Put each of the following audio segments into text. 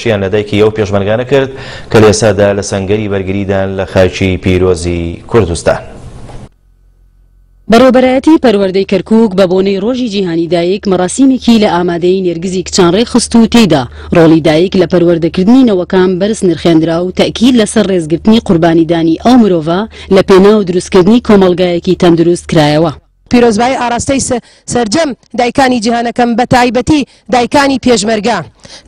دەستخۆشیان لە دایکی ئەو پێشمەرگانە کرد کە لە ئێستادا لە سەنگەری بەرگریدان لە خاکی پیرۆزی کوردستان. بەڕێوەبەرایەتی پەروەردەی کەرکوک بە بۆنەی ڕۆژی جیهانی دایک مەراسیمێکی لە ئامادەیی نێرگزی کچان ڕێکخست و تێیدا ڕۆڵی دایک لە پەروەردەکردنی نەوەکان بەرز نرخێندرا و تەئکید لەسەر ڕێزگرتنی قوربانیدانی ئەو مرۆڤە لە پێناو دروستکردنی کۆمەڵگایەکی تەندروست کرایەوە. پیرۆزبایی ئاراستەی سەرجەم دایکانی جیهانەکەم بەتایبەتی دایکانی پێشمەرگە،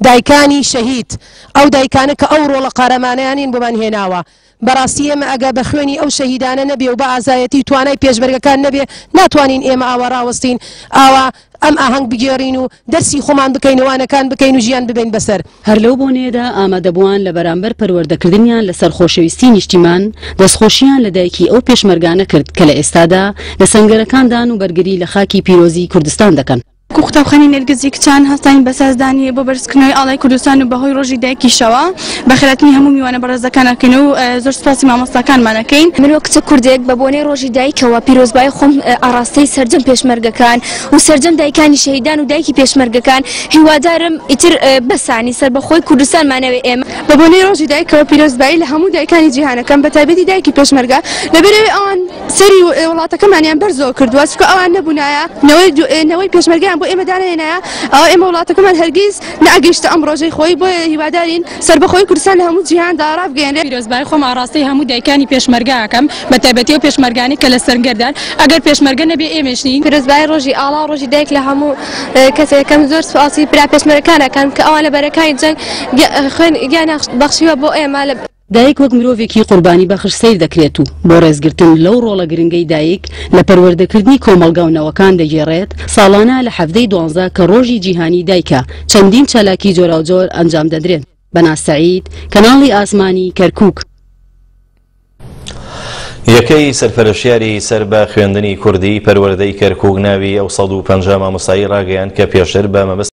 دایکانی شەهید، ئەو دایکانە کە ئەو ڕۆڵە قارەمانەیانین بۆمان هێناوە، بەڕاستی ئێمە ئەگە بە خوێنی ئەو شەهیدانە نەبێ و بە ئازایەتی و توانای پێشمەرگەکان نەبێ ناتوانین ئێمە ئاوا ڕاوەستین ئاوا ئەم ئاهەنگ بگێڕین و دەرسی خۆمان بکەین و وانەکان بکەین و ژیان ببەین بەسەر. هەر لەو بۆنەیەدا ئامادەبووان لە بەرامبەر پەروەردەکردنیان لەسەر خۆشەویستی نیشتیمان، دەستخۆشییان لە دایکی ئەو پێشمەرگانە کرد کە لە ئێستادا لە سەنگەرەکاندان و بەرگری لە خاکی پیرۆزی کوردستان دەکەن. وەکو قوتابخانەی نێرگزی کچان هەستاین بە سازدانی بۆ بەرزکردنەوەی ئاڵای کوردستان و بەهۆی ڕۆژی دایکیشەوە بەخێرهاتنی هەموو میوانە بەڕێزەکان ئەکەین و زۆر سوپاسی مامۆستاکانمان ئەکەین. من وەک کچە کوردێک بە بۆنەی ڕۆژی دایکەوە پیرۆزبایی خۆم ئاڕاستەی سەرجەم پێشمەرگەکان و سەرجەم دایکانی شەهیدان و دایکی پێشمەرگەکان هیوادارم ئیتر بەسانی سەربەخۆی کوردستانمانەوێ ئێمە. بە بۆنەی ڕۆژی دایکەوە پیرۆزبایی لە هەموو دایکانی جیهانەکەم بە تایبەتی دایکی پێشمەرگە لەبەرئەوەی ئەوان سەری وڵاتەکەمانیان بەرزەوە کردووە چونکە ئەوان نەبوونایە نەوەی نەوەی پێشمەرگەیان بۆ ئێمە دانەهێنایە ئەوا ئێمە وڵاتەکەمان هەرگیز نەئەگەیشتە ئەم ڕۆژەی خۆی بۆیە هیوادارین سەربەخۆیی کوردستان لە هەموو جیهاندا ڕابگەیەنرێت. پیرۆزبایی خۆم ئاڕاستەی هەموو دایکانی پێشمەرگە ئەکەم بە تایبەتی ئەو پێشمەرگانەی کە لە سەنگەردان ئەگەر پێشمەرگە نەبێ ئێمەش نین. پیرۆزبایی ڕۆژی ئاڵا و ڕۆژی دایک لە هەموو کەسێک ئەکەم زۆر سوپاسی برا پێشمەرگەکان ئەکەم کە ئەوان لە بەرەکانی جەنگ خوێن گیانیان بەخشیوە بۆ ئێمە لە. دایک وەک مرۆڤێکی قوربانی بەخش سەیر دەکرێت و بۆ ڕێزگرتن لەو ڕۆڵە گرنگەی دایک لە پەروەردەکردنی کۆمەڵگا و نەوەکان دەگێڕێت، ساڵانە لە حەڤدە ی دوانزە کە ڕۆژی جیهانی دایکە چەندین چالاکی جۆراوجۆر ئەنجام دەدرێن. بەناز سەعید، کەناڵی ئاسمانی، کەرکوک. یەکەی سەرپەرشتیاری سەر بە خوێندنی کوردی پەروەردەی کەرکوک ناوی ئەو 150 مامۆستایی ڕاگەیاند کە پێشتر بە مەبەستی.